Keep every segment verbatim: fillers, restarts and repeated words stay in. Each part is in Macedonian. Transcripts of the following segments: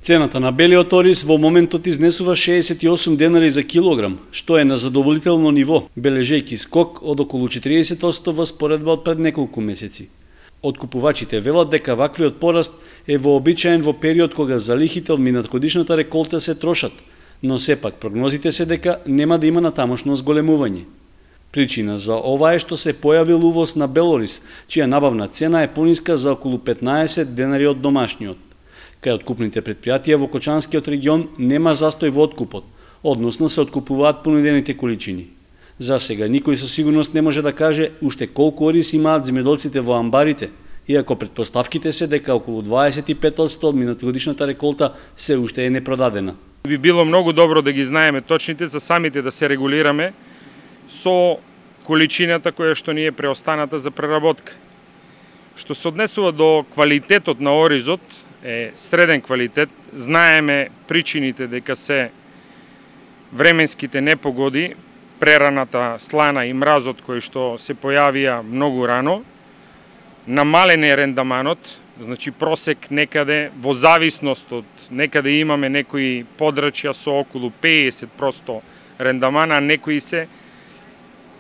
Цената на белиот ориз во моментот изнесува шеесет и осум денари за килограм, што е на задоволително ниво, бележејќи скок од околу четириесет одсто во споредба од пред неколку месеци. Откупувачите велат дека ваквиот пораст е вообичаен во период кога залихите од минатогодишната реколта се трошат, но сепак прогнозите се дека нема да има натамошно зголемување. Причина за ова е што се појавил увоз на бел ориз, чија набавна цена е пониска за околу петнаесет денари од домашниот. Кај откупните предпријатија во Кочанскиот регион нема застој во откупот, односно се откупуваат понудените количини. За сега никој со сигурност не може да каже уште колку ориз имаат земјоделците во амбарите, иако предпоставките се дека околу дваесет и пет одсто од минатогодишната реколта се уште е непродадена. Би било многу добро да ги знаеме точните, за самите да се регулираме со количината која што ни е преостаната за преработка. Што се однесува до квалитетот на оризот, е среден квалитет, знаеме причините дека се временските непогоди, прераната слана и мразот кој што се појавија многу рано, намален е рендаманот, значи просек некаде во зависност од некаде имаме некои подрачја со околу пеесет проценти рендаман, а некои се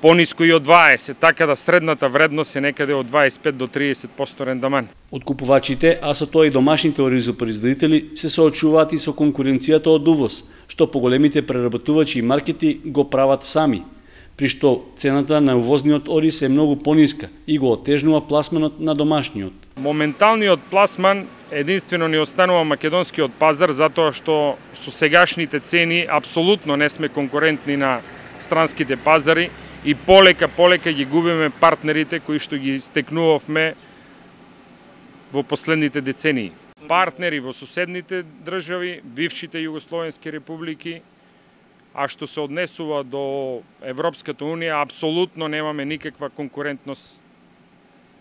пониско и од дваесет, така да средната вредност е некаде од дваесет и пет до триесет проценти рендаман. Откупувачите, а со тоа и домашните оризопроизводители се соочуваат и со конкуренцијата од увоз, што поголемите преработувачи и маркети го прават сами, при што цената на увозниот ориз е многу пониска и го отежнува пласманот на домашниот. Моменталниот пласман единствено ни останува македонскиот пазар, затоа што со сегашните цени апсолутно не сме конкурентни на странските пазари и полека полека ги губиме партнерите кои што ги стекнувавме во последните децении. Партнери во соседните држави, бившите југословенски републики, а што се однесува до Европската унија, апсолутно немаме никаква конкурентност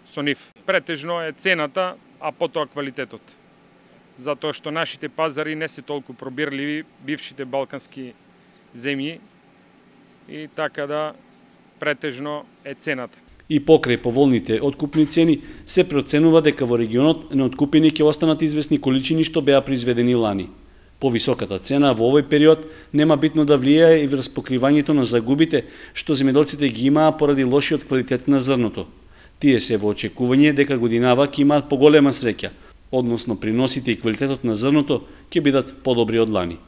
со нив. Претежно е цената, а потоа квалитетот. Затоа што нашите пазари не се толку пробирливи, бившите балкански земји, и така да претежно е цената. И покрај поволните откупни цени, се проценува дека во регионот неоткупени ќе останат известни количини што беа произведени лани. Повисоката цена во овој период нема битно да влијае и врз покривањето на загубите што земјоделците ги имаа поради лошиот квалитет на зрното. Тие се во очекување дека годинава ќе имаат поголема среќа, односно приносите и квалитетот на зрното ќе бидат подобри од лани.